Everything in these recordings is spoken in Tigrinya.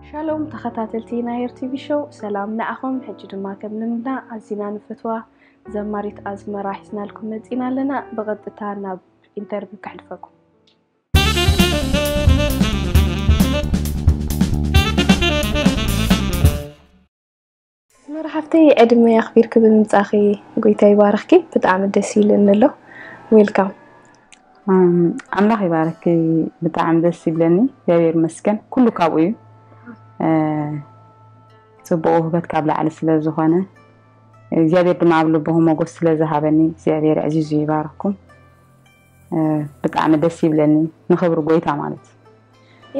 ሻሎም ተኸታተልቲ ናይ ር ቲ ቪ ሾው፣ ሰላም ንዓኹም። ሕጂ ድማ ከም ልምድና ኣዚና ንፈትዋ ዘማሪት ኣዝመራ ሒዝናልኩም መጺና ኣለና። ብቐጥታ ናብ ኢንተርቪው ከሕልፈኩም። ኣዝመራ ሓፍተይ፣ ዕድመ ኣኽቢርኪ ብምምጻእኺ ጎይታ ይባርኽኪ። ብጣዕሚ ደስ ኢሉኒ ኣሎ። ዌልካም። ኣም፣ ኣምላኽ ይባርኪ። ብጣዕሚ ደስ ይብለኒ። እግዚኣብሔር ይመስገን። ኩሉ ካብኡ እዩ። እ፣ ጽቡቕ ውህበት ካብ ላዕሊ ስለ ዝኾነ፣ እግዚኣብሔር ድማ ኣብ ልብኹም ሞገስ ስለ ዝሃበኒ እግዚኣብሔር ኣዕዚዙ ይባርኽኩም። እ፣ ብጣዕሚ ደስ ይብለኒ። ንኽብሪ ጎይታ ማለት እዩ።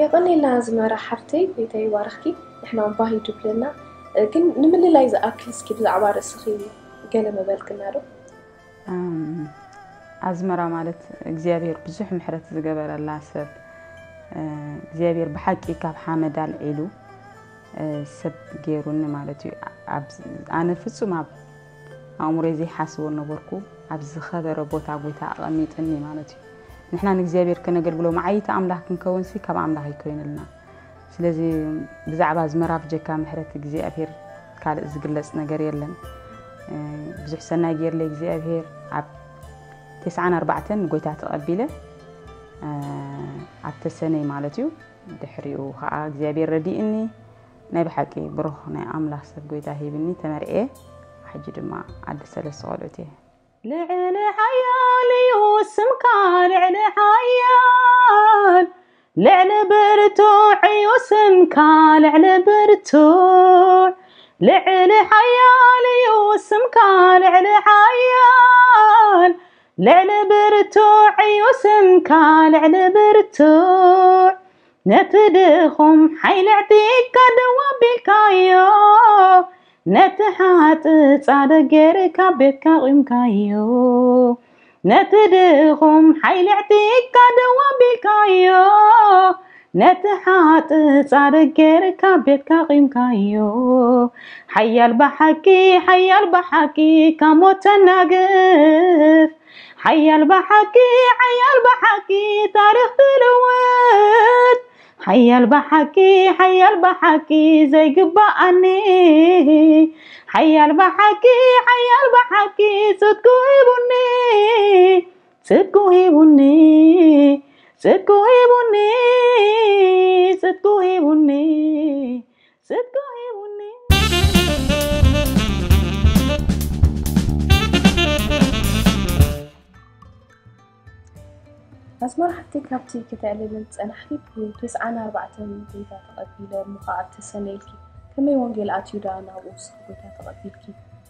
የቐኔልና ኣዝመራ ሓፍተይ፣ ጎይታ ይባርኽኪ። ንሕና ባህ እዩ ድብለና። እ፣ ግን ንምልላይ ዝኣክል እስኪ ብዛዕባ ርእስኺ ገለ ምበልክና ዶ? ኣም፣ ኣዝመራ ማለት እግዚኣብሔር ብዙሕ ምሕረት ዝገበረላ ሰብ፣ እ፣ እግዚኣብሔር ብሓቂ ካብ ሓመድ ኣልዒሉ፣ እ፣ ሰብ ገይሩኒ ማለት እዩ። ኣብ፣ ኣነ ፍጹም ኣብ ኣእምሮይ ዘይሓስቦ ነበርኩ። ኣብ ዝኸበረ ቦታ ጎይታ ኣቐሚጥኒ ማለት እዩ። ንሕና ንእግዚኣብሔር ከነገልግሎ መዓይቲ ኣምላኽ ክንከውንሲ ካብ ኣምላኽ ይኮይንልና። ስለዚ ብዛዕባ ኣዝመራ ብጀካ ምሕረት እግዚኣብሔር ካልእ ዝግለጽ ነገር የለን። እ፣ ብዙሕ ሰናይ ገይርለ እግዚኣብሔር። ኣብ ተስዓን ኣርባዕተን ንጎይታ ተቐቢለ፣ እ፣ ኣብ ተሰነይ ማለት እዩ። ድሕሪኡ ከዓ እግዚኣብሔር ረዲእኒ። ናይ ብሓቂ ብሩኽ ናይ ኣምላኽ ሰብ ጎይታ ሂብኒ፣ ተመርዕየ። ሕጂ ድማ ኣደ ሰለስተ ቆልዑት እየ። ልዕሊ ሓያል እዩ ስምካ፣ ልዕሊ ሓያል፣ ልዕሊ ብርቱዕ እዩ ስምካ፣ ልዕሊ ብርቱዕ። ልዕሊ ሓያል እዩ ስምካ፣ ልዕሊ ሓያል፣ ልዕሊ ብርቱዕ እዩ ስምካ፣ ልዕሊ ብርቱዕ። ነቲ ድኹም ሓይሊ ኣዕጢቕካ ደው ኣቢልካዮ፣ ነቲ ሓጥእ ጻድቕ ጌርካ ቤትካ ኣቑምካዮ። ነቲ ድኹም ሓይሊ ኣዕጢቕካ ደው ኣቢልካዮ፣ ነቲ ሓጥእ ጻድቕ ጌርካ ቤትካ ኣቑምካዮ። ሓያል ብሓቂ፣ ሓያል ብሓቂ ካብ ሞት ተናግፍ፣ ሓያል ብሓቂ፣ ሓያል ብሓቂ ታሪኽ ትልውጥ። ሓያል ብሓቂ፣ ሓያል ብሓቂ ዘይግባኣኒ። ሓያል ብሓቂ፣ ሓያል ብሓቂ ጽድቁ ሂቡኒ፣ ጽድቁ ሂቡኒ፣ ጽድቁ ሂቡኒ፣ ጽድቁ ሂቡኒ፣ ጽድቁ ሂቡኒ። ኣዝመራ ሓፍተይ፣ ካብቲ ከተዕልልን ዝጸናሕኪ ብ ተስዓን ኣርባዕተን ጎይታ ተቐቢለ እሞ ኸዓ ተሰነይልኪ። ከመይ ወንጌል ኣትዩ ደኣ ናብኡ ንስኺ ጎይታ ተቐቢልኪ?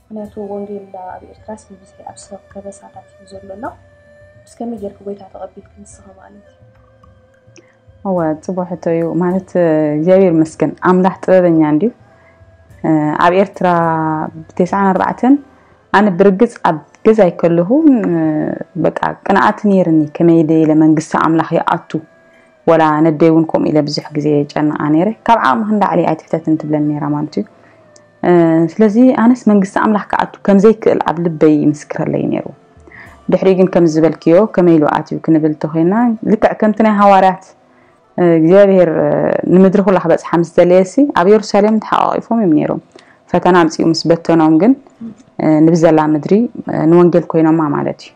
ምኽንያቱ ወንጌል ደኣ ኣብ ኤርትራስ ብብዝሒ ኣብ ሰብ ከበሳታት እዩ ዘሎ ኣሎ። ምስ ከመይ ጌርኪ ጎይታ ተቐቢልኪ ንስኺ ማለት እዩ? እወ፣ ጽቡቕ ሕቶ እዩ። ማለት፣ እግዚኣብሔር ይመስገን፣ ኣምላኽ ጥበበኛ እንድዩ። ኣብ ኤርትራ ብ ተስዓን ኣርባዕተን ኣነ ብርግጽ ኣብ ገዛይ ከለኹ፣ በቃ ቅንኣት ነይርኒ፣ ከመይ ደይለ መንግስቲ ኣምላኽ ይኣቱ፣ ወላ ነደይ እውን ከምኡ ኢለ ብዙሕ ግዜ የጨንቓ ነይረ። ካብ ዓቕሚ ክንዳዕሊ ኣይትሕተትን ትብለኒ ነይራ ማለት እዩ። ስለዚ ኣነስ መንግስቲ ኣምላኽ ክኣቱ ከም ዘይክእል ኣብ ልበይ ይምስክረለይ ነይሩ። ድሕሪ ግን ከም ዝበልክዮ ከመይ ኢሉ ኣትዩ ክንብል ተኾይና፣ ልክዕ ከምቲ ናይ ሃዋርያት እግዚኣብሔር ንምድሪ ኩላ ክበጽሓ ምስ ደለየሲ ኣብ የሩሳሌም ተሓቋቂፎም እዮም ነይሮም። ፈተና ኣምጺኡ ምስ በተኖም ግን ንብዘላ ምድሪ ንወንጌል ኮይኖማ ማለት እዩ።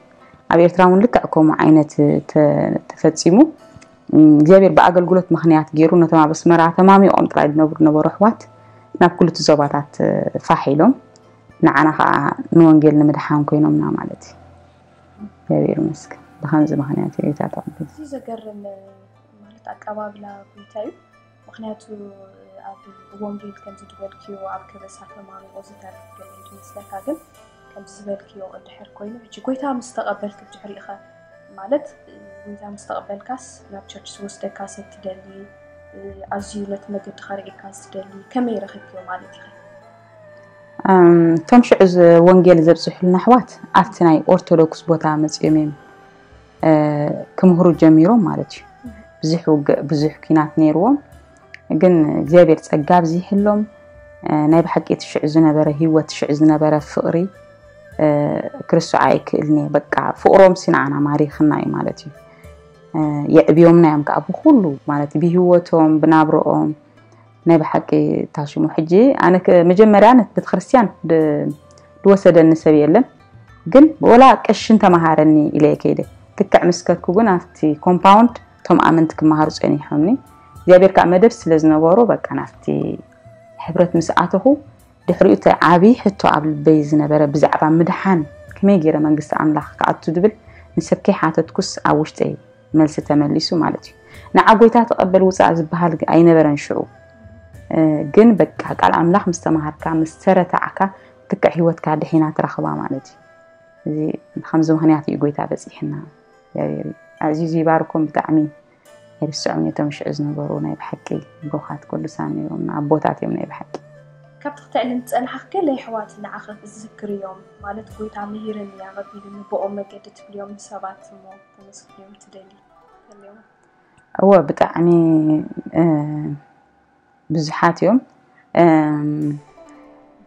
ኣብ ኤርትራ እውን ልክዕ ከምኡ ዓይነት ተፈጺሙ። እግዚኣብሔር ብኣገልግሎት ምኽንያት ገይሩ ነቶም ኣብ ኣስመራ ተማሚቖም ጥራይ ዝነብሩ ነበሩ ኣሕዋት ናብ ክልቱ ዞባታት ፋሕ ኢሎም ንዓና ከዓ ንወንጌል ንምድሓን ኮይኖምና ማለት እዩ። እግዚኣብሔር ይመስገን። ብኸምዚ ምኽንያት እዩ ጌታ ተቐቢሉ። እዚ ዘገርም ማለት ኣቀባብላ ጎይታ እዩ። ምኽንያቱ ኣብ ወንጌል ከምዚ ዝበልክዮ ኣብ ከበሳ ተማሚቑ ዝተረፍ ገለ እዩ ዝመስለካ፣ ግን ከምዚ ዝበልክዮ እንድሕር ኮይኑ፣ ሕጂ ጎይታ ምስ ተቐበልክ ብድሕሪኡ ኸ ማለት ጎይታ ምስ ተቐበልካስ ናብ ቸርች ዝወስደካ ሰብ ትደሊ፣ ኣዝዩ ነቲ መገዲ ከርእየካ ዝደሊ ከመይ ረኺብክዮ ማለት ኢኺ? እቶም ሽዑ ወንጌል ዘብፅሑልና ኣሕዋት ኣብቲ ናይ ኦርቶዶክስ ቦታ መፂኦም እዮም ክምህሩ ጀሚሮም ማለት እዩ። ብዙሕ ውግእ ብዙሕ ኲናት ነይርዎም፣ ግን እግዚኣብሔር ፀጋ ኣብዚሕሎም ናይ ብሓቂ እቲ ሽዑ ዝነበረ ህይወት ሽዑ ዝነበረ ፍቕሪ ክርስዖ ኣይክእልን እየ። በቃ ፍቕሮም ሲ ንዓና ማሪኽና እዩ ማለት እዩ። የዕብዮምና እዮም ከዓ ብኩሉ ማለት ብህይወቶም ብናብረኦም ናይ ብሓቂ ታሽሙ ሕጂ ኣነ መጀመርያ ነት ቤተክርስትያን ዝወሰደኒ ሰብ የለን። ግን ወላ ቀሽን ተመሃረኒ ኢለ ከይደ ልክዕ ምስከትኩ ግን ኣብቲ ኮምፓውንድ እቶም ኣመንቲ ክመሃሩ ፀኒሖምኒ እግዚኣብሔር ከዓ መደብ ስለ ዝነበሮ በቃ ናብቲ ሕብረት ምስ ኣተኹ ድሕሪኡ እቲ ዓብዪ ሕቶ ኣብ ልበይ ዝነበረ ብዛዕባ ምድሓን ከመይ ገይረ መንግስቲ ኣምላኽ ክኣቱ ዝብል ንሰብ ከይሓተትኩስ ኣብ ውሽጠይ መልሲ ተመሊሱ ማለት እዩ። ንዓ ጎይታ ተቐበል ውፃእ ዝበሃል ኣይነበረን ሽዑ። ግን በቃ ቃል ኣምላኽ ምስ ተማሃርካ ምስ ተረታዕካ ልክዕ ህይወትካ ድሒና ትረኽባ ማለት እዩ። እዚ ከምዚ ምኽንያት እዩ ጎይታ በፂሕና። እግዚኣብሔር ኣዚዙ ይባርኮም። ብጣዕሚ ኣይርስዖም እቶም ሽዑ ዝነበሩ ናይ ብሓቂ ብሩኻት ቅዱሳን እዮም ኣቦታት እዮም ናይ ብሓቂ። ካብቲ ክትዕልም ዝፀናሕኽ ገለ ኣሕዋት ንዓኺ ክዝክር እዮም ማለት ጎይታ ምሂርኒ ኣቐቢሉኒ ብኦም መገዲ ትብልዮም ንሰባት እሞ ተመስግንዮም ትደሊ? እወ ብጣዕሚ ብዙሓት እዮም።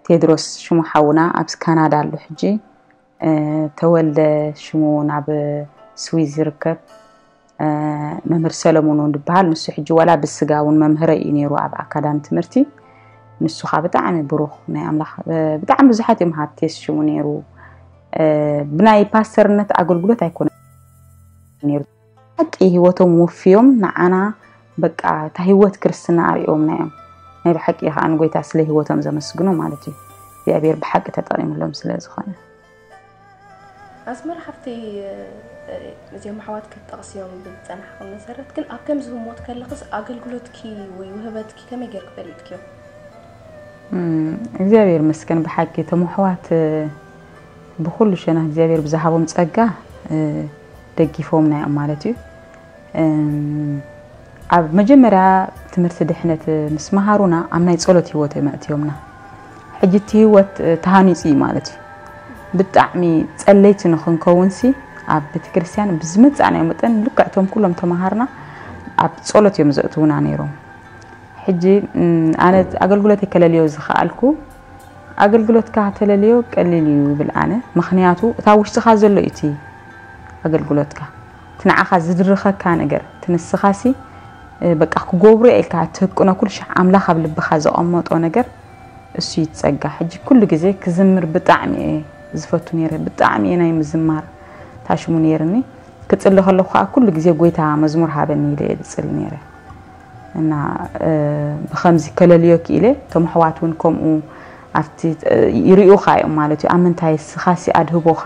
ቴድሮስ ሽሙ ሓውና ኣብ ካናዳ ኣሎ ሕጂ። ተወልደ ሽሙ ናብ ስዊዝ ዝርከብ መምህር ሰለሙን እውን ዝበሃል ንሱ ሕጂ ዋላ ብስጋ እውን መምህረ እዩ ነይሩ ኣብ ኣካዳሚ ትምህርቲ። ንሱ ካ ብጣዕሚ ብሩኽ ናይ ኣምላኽ ብጣዕሚ ብዙሓት እዮም ሃብቴስ ሽሙ ነይሩ። ብናይ ፓስተርነት ኣገልግሎት ኣይኮነ ነይሩ ሓቂ ህይወቶም ወፍዮም ንዓና በቃ እታ ህይወት ክርስትና ኣርእዮምና እዮም። ናይ ብሓቂ ከዓ ንጎይታ ስለ ህይወቶም ዘመስግኖ ማለት እዩ። እግዚኣብሔር ብሓቂ ተጠቂምሎም ስለ ዝኾነ። ኣስመራ ሓፍተይ እዚኦም ኣሕዋት ክትጠቕስዮም ብዝፀናሕኹም መሰረት ግን ኣብ ከምዚ ህሞት ከለኽስ ኣገልግሎትኪ ወይ ውህበትኪ ከመይ ጌርኪ ፈሊጥክዮ? እግዚኣብሔር ይመስገን ብሓቂ እቶም ኣሕዋት ብኩሉ ሸነኽ እግዚኣብሔር ብዝሃቦም ፀጋ ደጊፎምና እዮም ማለት እዩ። ኣብ መጀመርያ ትምህርቲ ድሕነት ምስ መሃሩና ኣብ ናይ ፀሎት ህይወት እዮም ኣእትዮምና። ሕጂ እቲ ህይወት ተሃኒፁ እዩ ማለት እዩ። ብጣዕሚ ፀለይቲ ንክንከውን ሲ ኣብ ቤተክርስትያን ብዝመፃእናዮ መጠን ልክዕቶም ኩሎም ተምሃርና ኣብ ፀሎት እዮም ዘእትውና ነይሮም። ሕጂ ኣነ ኣገልግሎት የከለልዮ ዝኸኣልኩ ኣገልግሎትካ ተለልዮ ቀሊል እዩ ይብል ኣነ። ምክንያቱ እታ ውሽጥኻ ዘሎ እዩ እቲ ኣገልግሎትካ እቲ ንዓኻ ዝድርኸካ ነገር እቲ ንስኻሲ በቃ ክገብሮ ኢልካ ትህቅኖ ኩሉ ሻዕ ኣምላኽ ኣብ ልብኻ ዘቐመጦ ነገር እሱ ይትጸጋ። ሕጂ ኩሉ ግዜ ክዝምር ብጣዕሚ እየ ዝፈቱ ነይረ። ብጣዕሚ እየ ናይ ምዝማር ታሽሙ ነይርኒ። ክጽሊ ከለኹ ከዓ ኩሉ ግዜ ጎይታ መዝሙር ሃበኒ ኢለ እየ ዝጽሊ ነይረ። እና ብከምዚ ከለልዮ ክኢለ እቶም ኣሕዋት እውን ከምኡ ኣብቲ ይርእዩኻ እዮም ማለት እዩ ኣብ ምንታይ ስኻሲ ኣድህቦኻ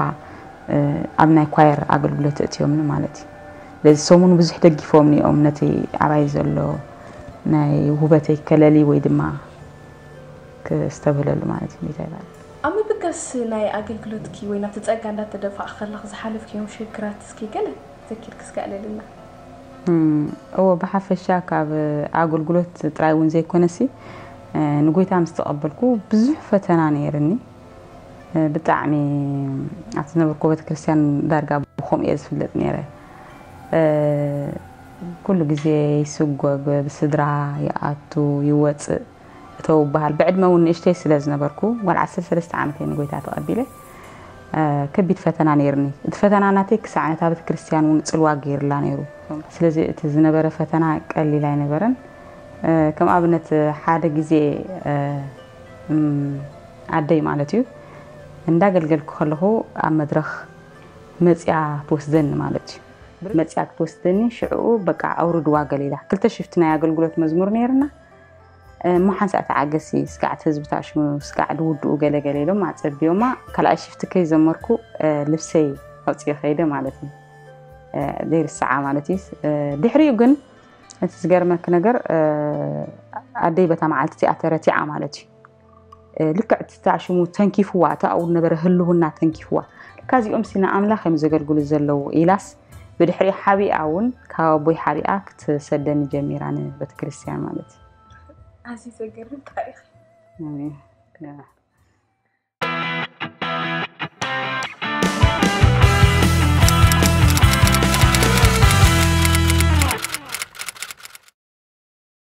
ኣብ ናይ ኳየር ኣገልግሎት እእትዮምኒ ማለት እዩ ስለዚ ሰሙን ብዙሕ ደጊፎምኒ እዮም ነቲ ኣባይ ዘሎ ናይ ውበተይ ከለሊ ወይ ድማ ክስተብህለሉ ማለት እዩ እንታይ ይባል ኣብ ምብጋስ ናይ ኣገልግሎትኪ ወይ ናብቲ ጸጋ እንዳተደፋዕ ከለኽ ዝሓለፍክዮም ሽግራት እስኪ ገለ ዘኪርክ እስከ ኣዕለልና እዎ ብሓፈሻ ካብ ኣገልግሎት ጥራይ እውን ዘይኮነሲ ንጎይታ ምስ ተቐበልኩ ብዙሕ ፈተና ነይርኒ ብጣዕሚ ኣብቲ ዝነበርኩ ቤተክርስትያን ዳርጋ ብኸምኡ እየ ዝፍለጥ ነይረ ኩሉ ግዜ ይስጎግ ብስድራ ይኣቱ ይወፅእ እተው በሃል ብዕድመ እውን ንእሽተይ ስለ ዝነበርኩ ጓል ዓሰርተ ሰለስተ ዓመት እየ ንጎይታ ተቐቢለ ከቢድ ፈተና ነይርኒ እቲ ፈተና ናተይ ክሳዕ ነታ ቤተክርስትያን እውን ፅልዋ ገይርላ ነይሩ ስለዚ እቲ ዝነበረ ፈተና ቀሊል ኣይነበረን ከም ኣብነት ሓደ ግዜ ኣደይ ማለት እዩ እንዳገልገልኩ ከለኹ ኣብ መድረኽ መፅያ ትወስደኒ ማለት እዩ መፅያ ክትወስደኒ ሽዕኡ በቃ ኣውርድዋ ገለ ኢላ ክልተ ሽፍቲ ናይ ኣገልግሎት መዝሙር ነይርና እሞ ሓንሳእ ተዓገሲ ስጋዕ እቲ ህዝቢ ታሽሙ ስጋዕ ድውድኡ ገለገለ ኢሎም ኣፀቢዮማ ካልኣይ ሽፍቲ ከይዘመርኩ ልብሰይ ኣውፅዮ ከይደ ማለት እዩ ዘይርስዓ ማለት እዩ ድሕሪኡ ግን እቲ ዝገርመክ ነገር ኣደይ በታ መዓልቲ እቲኣ ተረቲዓ ማለት እዩ ልክዕ እቲ ታሽሙ ተንኪፍዋ እቲ ኣብኡ ዝነበረ ህልውና ተንኪፍዋ ለካ እዚኦም ሲ ንኣምላኽ እዮም ዘገልግሉ ዘለዉ ኢላስ ብድሕሪኡ ሓቢኣ እውን ካብ ኣቦይ ሓቢኣ ክትሰደኒ ጀሚራ ንቤተክርስትያን ማለት እዩ ኣዝዩ ዘገርም ታሪኽ ኣሜን።